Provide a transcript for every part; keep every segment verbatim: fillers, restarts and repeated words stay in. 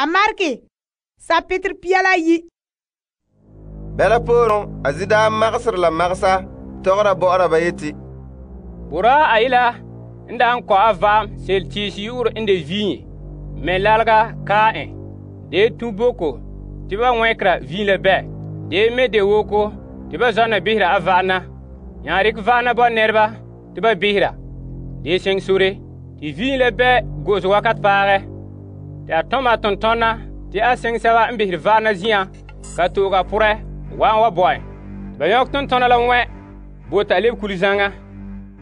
A marke sapetr pia la yi. Bɛla pooren a zi daa magesere la magesa tɔgɔra bɔ'ɔra ba yeti, Boraa ayila n daa n kɔ'a va'am sel tiisi yu'urɛ n de viin me lalega kaa en. De tu boko te ba wɛnkera viin la bɛ. De me de woko te ba zɔna behera a va'ana. Nya rekɛ va'ana bo nɛreba te ba behera. De seŋ sore te viin la bɛ go'ose wakat paagɛ. Te a tom a tontɔna te a seŋ sɛba n behere va'ana zi'an ka tooga porɛ wa'an wa bo en. Ba yɔk tontɔna la wɛ bo ta lebe kuli zaŋa.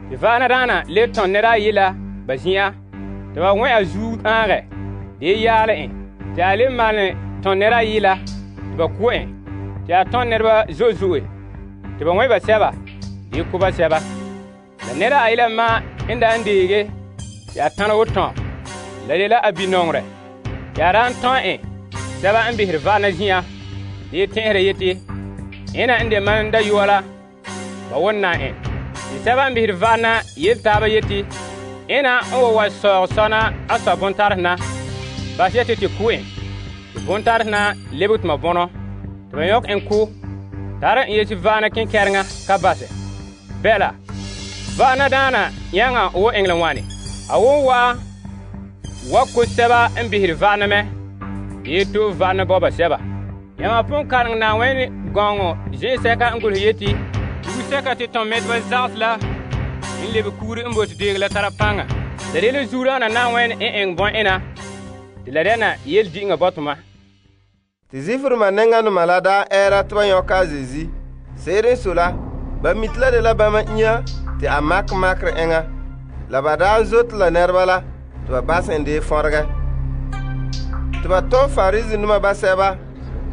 Te va'ana daana le tɔn nɛra ayi la ba zin'an. Te ba wɛ a zuo ãagɛ. De yaale en. Te a le malɛ tɔn nɛra ayi la te ba ko' en. Te a tɔn nɛreba zo'e zo'e. Te ba wɛ ba sɛba de ko ba sɛba. La nɛra ayi la ma n da n deege te a tãna wo tɔn. La de la a binɔŋerɛ. Te a daan tɔn en sɛba n behere va'ana zin'an. De tɛn'ɛhera yeti, ena n de mam dayɔa la ba wona en. Te sɛba n behere va'ana yele taaba yeti, ena n wa wa sɔɔg sɔna a sɔ bontarɛ na. Bas yeti te ko en. Te bontarɛ na lebege tuma bɔnɔ. Te ba yɔk en ko. Tare en yeti va'ana kenkɛreŋa ka basɛ. Bɛla, va'ana daana yãŋa wo eŋɛ la wane. A won wa wa ko sɛba n behere va'ana mɛ. De to va'ana bo ba sɛba. Yãma pon kareŋ Na'awɛn gɔŋɔ zen'sɛka n golehɛ yeti, dugsɛka te tɔn mɛteba zagehe la n lebe kuuri n bote deege la tara paŋa. La de la zuuraana Na'awɛn n eŋɛ bɔ'ena te la dɛna yele di'inga bɔtoma. Te zifirima nɛŋanoma la daa ɛɛra te ba yɔka a zezi. Se'ere n so la, ba mite la de la bama inya te a makɛ makerɛ eŋa. La ba daa zote la nɛreba la te ba basɛ en dee fɔregɛ. Te ba tɔm Farisinoma basɛba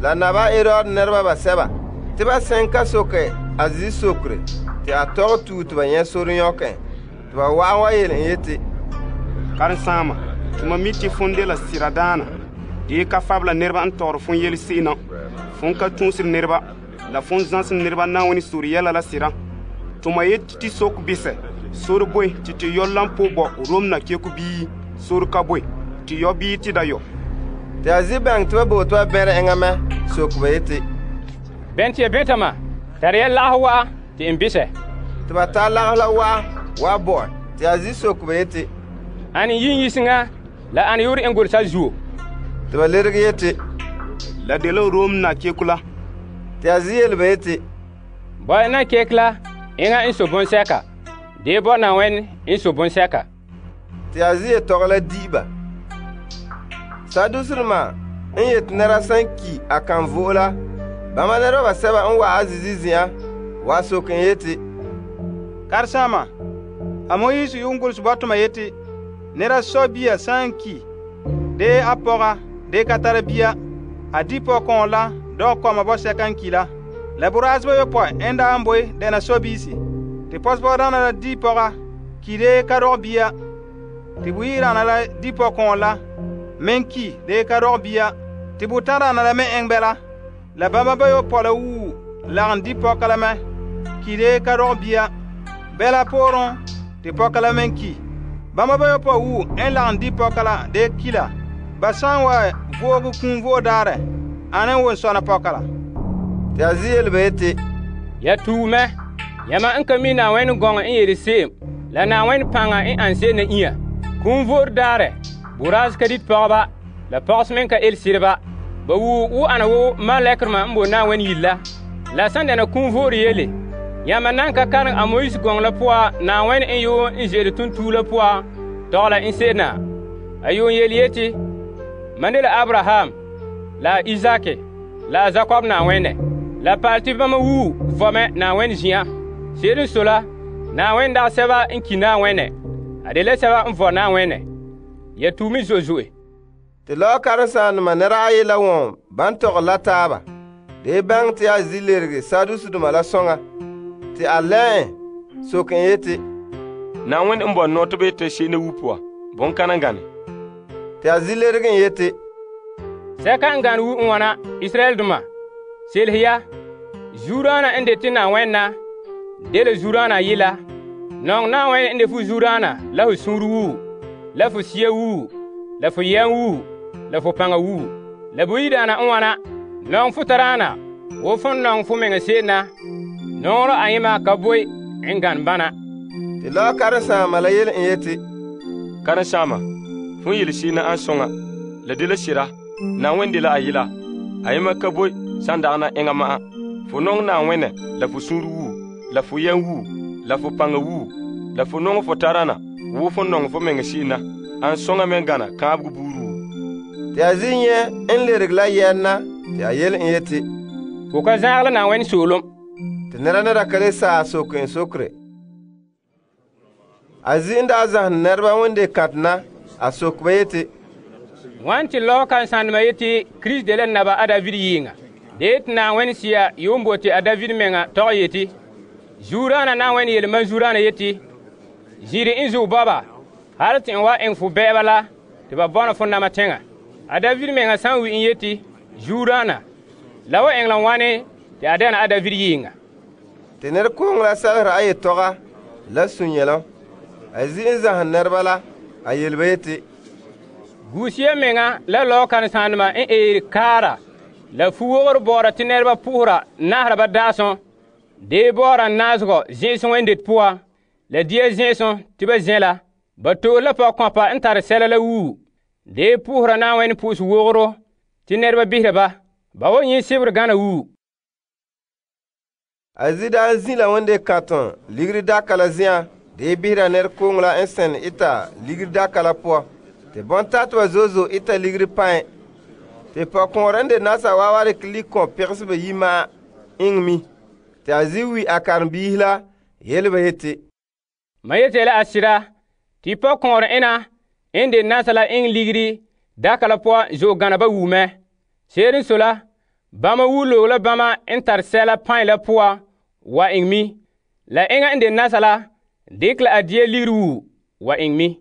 la naba Herod nɛreba basɛba te ba sɛn ka soke a zi sokere te a tɔgɛ tuu te ba nyɛ sore yɔk en. Te ba wa'an wa yele en yeti, Karensaama, tuma mi te fon de la siradaana. De ka fabla nɛreba n tɔgɔre fon yele se'ena. Fon ka tuusere nɛreba la fon zãsem nɛreba Na'awɛn sore yɛla la sira. Tuma yeti ti sok bisɛ. Sore boe ti te yɔ lampo bɔ Rom na keko bii sore ka boe ti yɔ bii ti da yɔ. Te a zi bɛŋ te ba bo te ba bɛrɛ eŋa mɛ sok ba yeti, Bɛn te ya bɛntama, tare ya lageh wa'a te n bisɛ. te ba tar lageh la wa'a wa bo te a zi sok ba yeti, Ane yin yiseŋa la ane yore n golsa zuo. te ba lerege yeti, La de la Rom na keko la. te a zi yele ba yeti, Bɔ'ɛ na kek la eŋa n so bonsɛka. De bo Na'awɛn n so bonsɛka. te a zi yetɔgɔ la di ba. Saduserema n yeti nɛra san ki a kan vo'e la, bama nɛreba basɛba n wa a zizi zi'an wa sok en yeti, Karensaama, a Moyise yuun golse bɔtoma yeti, nɛra sɔ bia sã n ki, de a pɔga, de ka tara bia, a di pɔgɔkɔɔ la dɔg kɔma bɔsɛka n ki la. La boraaseba yopɔi n daa n boe dɛna sɔbiisi. Te pɔsepɔgdaana la di pɔga, ki de ka dɔg bia. Te buyiiraana la di pɔgɔkɔɔ la, meŋ ki de ka dɔg bia. Te botãdaana la me eŋ bɛla. La bãmba bayopɔi la wuu lagem di pɔka la mɛ, ki de ka dɔg bia. Bɛla pooren te pɔka la meŋ ki. Bãmba bayopɔi wuu n lagem di pɔka la de ki la. Ba sã n wa vooge kũum vo'e daarɛ, ane n won sɔna pɔka la. te a zi yele ba yeti, Ya tuu mɛ. Yãma n ka mi Na'awɛn gɔŋɔ n yele se'em la Na'awɛn paŋa n an se'em na inya. Kũum vo'ore daarɛ, boraas ka dit pɔgeba, la pɔgese meŋ ka el sireba. Ba wuu wo ana wo malɛkerema n bo Na'awɛn yire la. La sãn dɛna kũum vo'ore yele, yãma nan ka kareŋ a Moyise gɔŋɔ la poa Na'awɛn n yoo n ze'ele tontuu la poa tɔgɛ la n se'em na. A yoo yele yeti, mam de la Abraham, la Izake, la Zakob Na'awɛnɛ. La paal tɩ bãmba wuu vɔmɛ Na'awɛn zĩ'an. Se'ere n so la, Na'awɛn dagɛ sɛba n ki Na'awɛnɛ. A de la sɛba n vɔ Na'awɛnɛ. Ya tuu me zo'e zo'e. te lɔɔ karensaamdoma nɛra ayi la wɔn ban tɔgɛ la taaba. De bãng te a zi lerege Sadusedoma la sõŋa. Te a lɛ en sok en yeti, Na'awɛn n bɔn nɔɔ tɩ b yetɩ se'ene wu puan, bõn-kãna gane. te a zi lerege en yeti, Sɛka n gane wu n wãna Israɛldoma. Selhe ya, zuuraana n de tɩ Na'awɛn na, de la zuuraana ayi la. Nɔŋ Na'awɛn n de fu zuuraana la fu sũur wuu, la fu sia wuu, la fu yɛm wuu, la fo paŋa wuu. La boyidaana n wana, nɔŋɛ fo tadaana wo fon nɔŋɛ fo meŋa se'em na, nɔŋerɛ ayema ka boe n gane bana. Te lɔɔ karen-saama la yele en yeti, Karen-saama, fon yele se'em na an soŋa. La dela sera, Na'ayenɛ dela a yela. Ayema ka boe san dagana enŋa ma'an. Fo nɔŋɛ Na'ayenɛ la fo suunre wuu, la fo yɛm wuu, la fo paŋa wuu, la fo nɔŋɛ fo tadaana wo fon nɔŋɛ fo meŋa se'em na, an soŋa me gana kaanbegɔ buuri woo. Te a zi nyɛ n lerege la yɛn na, te a yele en yeti, Fo ka zaagɛ la Na'ayenɛ soolom. te nɛra ne da ka le saa soke en sokere. A zi n daa zahene nɛreba won de kãtɛ na, a soke ba yeti, Wan te lɔɔ kan sãndema yeti Kirist de la naba a David yɩɩŋa. De yeti Na'ayenɛ Sea yuun bote a David meŋa tɔgɛ yeti, Zuuraana Na'ayenɛ yelemam zuuraana yeti, Zin'ire n zuɔ bɔba, hal te n wa eŋɛ fo bɛ'ɛba la te ba bɔna fo nama teŋa. A David meŋa san wi n yeti, Zuuraana, la wa eŋɛ la wane te a dɛna a David yɩɩŋa. te nɛrekooŋɔ la sɛlera a yetɔga la sũ-yɛlom. A zi n zahene nɛreba la, a yele ba yeti, Guusia meŋa la lɔɔ kan sãndema n eere kaara la fu-wogoro bɔɔra te nɛreba puhura nahara ba daasɔn, dee bɔɔra naazegɔ zẽ'esẽ wẽndet poan, la dia zẽ'esẽ te ba zẽ la. Ba to'e la pɔgɔkɔpa n tare sɛla la wuu, dee puhura Na'ayenɛ po'ose-wogoro te nɛreba behera ba. Ba wa nyɛ sebere gana wuu. A zi daa n zi la won de kãtɔ ligiri daka la zi'an, dee behera nɛrekooŋɔ la n sɛn ita ligiri daka la poan. Te bɔntateba zo'e zo'e ita ligiri pãe. Te pɔgɔkõorɛ n de nasa waawa dikɛ likɔn pegeseba yi ma'an iŋɛ mi. Te a zi wi a karenbiisi la yele ba yeti, Ma yete la a sira, tɩ pɔgɔkõorɛ ena n de nasa la iŋɛ ligiri daka la poan zo'e gana ba wuu mɛ. Se'ere n sɔe la, bãmba wuu loog la bãmba n tare sɛla pãe la poan wa iŋɛ mi. La eŋa n de nasa la dɩkɛ la a dia ligiri wuu wa iŋɛ mi.